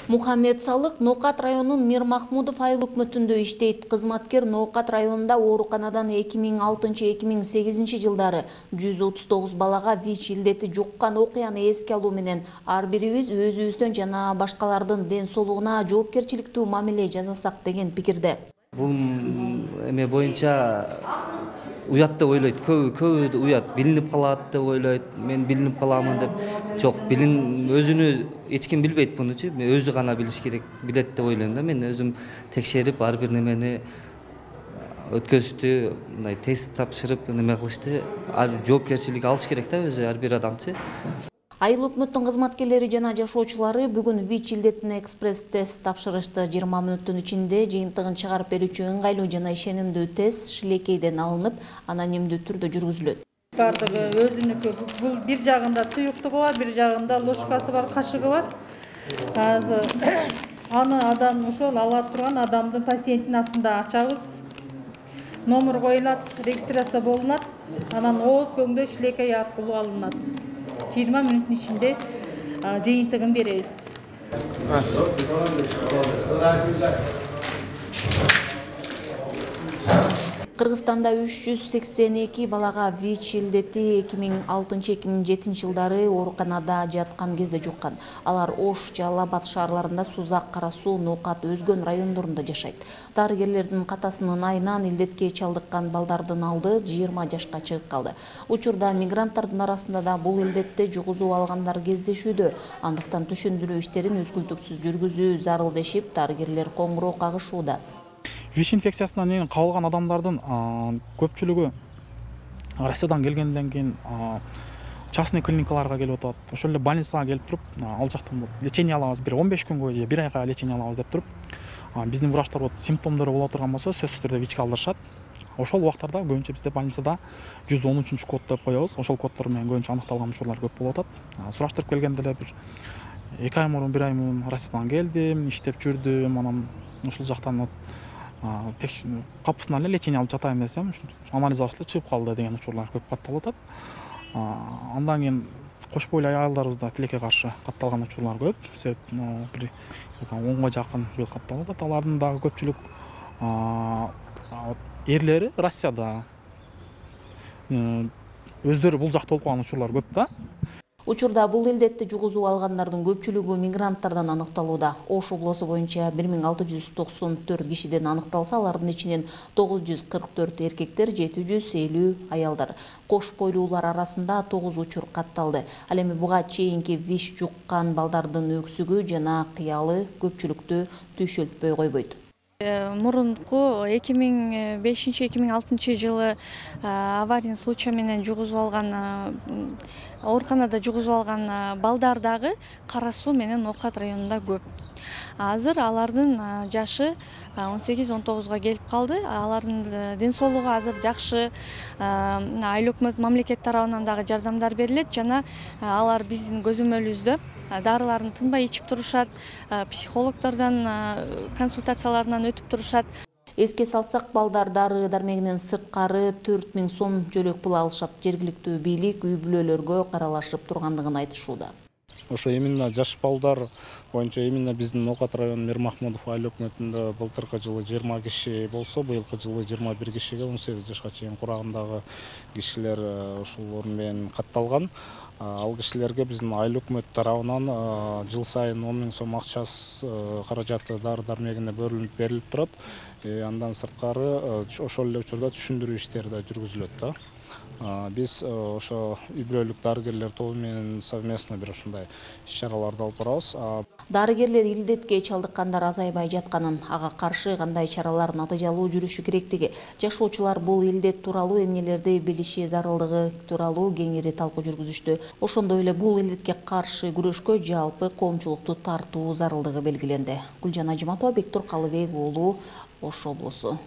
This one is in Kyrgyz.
Мухаммед Салык Ноокат районунун Мир Махмудов айыл өкмөтүндө иштейт. Кызматкер Ноокат районунда ооруканадан 2006-2008 жылдары 139 балага ВИЧ илдети жуккан окуяны эске алуу менен ар бирибиз өзүбүздөн жана башкалардын ден соолугуна жоопкерчиликтүү мамиле жасасак деген пикирде. Бул эме боюнча уят деп ойлойт, көбү уят, билинип калат деп ойлойт. Мен билинип каламын деп. Жок, өзүнү эч ким билбейт мунучу. Өзү гана билиш керек, билет деп ойлойм да. Мен өзүм текшерип, ар бир немени өткөзүштү, мындай тест тапшырып, неме кылышты. Жоопкерчилик алыш керек да өзү ар бир адамчы. Айыл өкмөттүн кызматкерлери жана жашоочулары бүгүн ВИЧ илдетине экспресс-тест тапшырышты. 20 мүнөттүн ичинде жыйынтыгын чыгарып берүүчү ыңгайлуу жана ишенимдүү тест шилекейден алынып, анонимдүү түрдө жүргүзүлөт. Бардыгы өзүнүкү. Бул бир жагында туюктугу бар, бир жагында ложкасы бар, кашыгы бар. Аны адам ошол ала турган адамдын пациенттин астында ачабыз. Номер коюлат, регистрация болунат. Анан ооз көңдө шилекей аркылуу алынат. 20 мүнөттүн ичинде жыйынтыгын беребиз. Кыргызстанда 382 балага ВИЧ илдети 2006-2007 жылдары ооруканада жаткан кезде жуккан. Алар Ош, Жалал Абад шаарларында, Сузак, Кара Суу, Ноокат, Өзгөн райондорунда жашайт. Дарыгерлердин катасынын айынан илдетке чалдыккан балдардын алды 20 жашка чыгып калды. Учурда мигранттардын арасында да бул илдетти жугузуп алгандар кездешүүдө. Андыктан түшүндүрүү иштерин үзгүлтүксүз жүргүзүү зарыл дешип, дарыгерлер коңгуроо кагышууда. ВИЧ инфекциясынан кабылган адамдардын көпчүлүгү Россиядан келгенден кийин частный клиникаларга келип атат. Ошол эле больницага келип туруп, ал жактан лечение алабыз, бир 15 күнгө же 1 айга лечение алабыз деп туруп, биздин врачтар симптомдору боло турган болсо, сөзсүз түрдө ВИЧке алдырышат. Ошол убактарда көбүнчө бизде больницада 113 код деп коебуз. Ошол коддор менен көбүнчө аныкталган учурлар көп болуп атат. Сураштырып келгенде эле бир 2 ай мурун, 1 ай мурун Россиядан келдим, иштеп жүрдүм, анан ушул жактан капысынан эле лечение алып жатайын десем, анализ алышты, чыгып калды деген учурлар көп катталып атат. Андан кийин кош бойлуу айылдарыбызда тилекке каршы катталган учурлар көп. Себеп бир 10га жакын бир катталып атат. Алардын дагы көпчүлүк эрлери Россияда өздөрү бул жакта болуп калган учурлар көп да. Учурда бул илдетти жугузуп алгандардын көпчүлүгү мигранттардан аныкталууда. Ош облусу боюнча 1694 кишиден аныкталса, алардын ичинен 944 эркектер, 750 аялдар. Кош бойлуулар арасында 9 учур катталды. Ал эми буга чейинки ВИЧ жуккан балдардын өксүгү жана кыялы көпчүлүктү түйшөлтпөй койбойт. Мурунку 2005-2006 жылы аварийный случай менен жугузуп алган ооруканада жугузуп алган балдар дагы Кара Суу менен Ноокат районунда көп. Азыр алардын жашы 18-19га келип калды. Алардын ден соолугу азыр жакшы. Айыл өкмөт мамлекет тарабынан дагы жардамдар берилет жана алар биздин көзөмөлүбүздө дарыларын тынбай ичип турушат, психологдордон консультацияларынан өтүп турушат. Эске салсак, балдар дары дармегинен сырткары 4000 сом жөлөк пул алышат. Жергиликтүү бийлик үй бүлөлөргө каралашып тургандыгын айтышууда. Ошо именно жаш балдар боюнча именно биздин Ноокат району Мир Махмудов айыл өкмөтүндө былтыркы жылы 20 киши болсо, быйылкы жылы 21 кишиге 18 жашка чейин курагындагы кишилер ушул менен катталган. Ал кишилерге биздин айыл өкмөт тарабынан жыл сайын 10 000 сом акчасы каражаты дары дармегине берилип турат. Андан сырткары ошол эле учурда түшүндүрүү иштери да жүргүзүлөт да. Биз ошо үй бүлөлүк дарыгерлер тобу менен совместно бир ушундай иш-чараларды алып барабыз. Дарыгерлер илдетке чалдыккандар азайбай жатканын, ага каршы кандай чаралар натыйжалуу жүрүшү керектиги, жашоочулар бул илдет тууралуу эмнелерди билиши зарылдыгы тууралуу кеңири талкуу жүргүзүштү. Ошондой эле бул илдетке каршы күрөшкө жалпы коомчулукту тартуу зарылдыгы белгиленди. Гүлжан Ажиматова, Бектур Калыбек уулу, Ош облусу.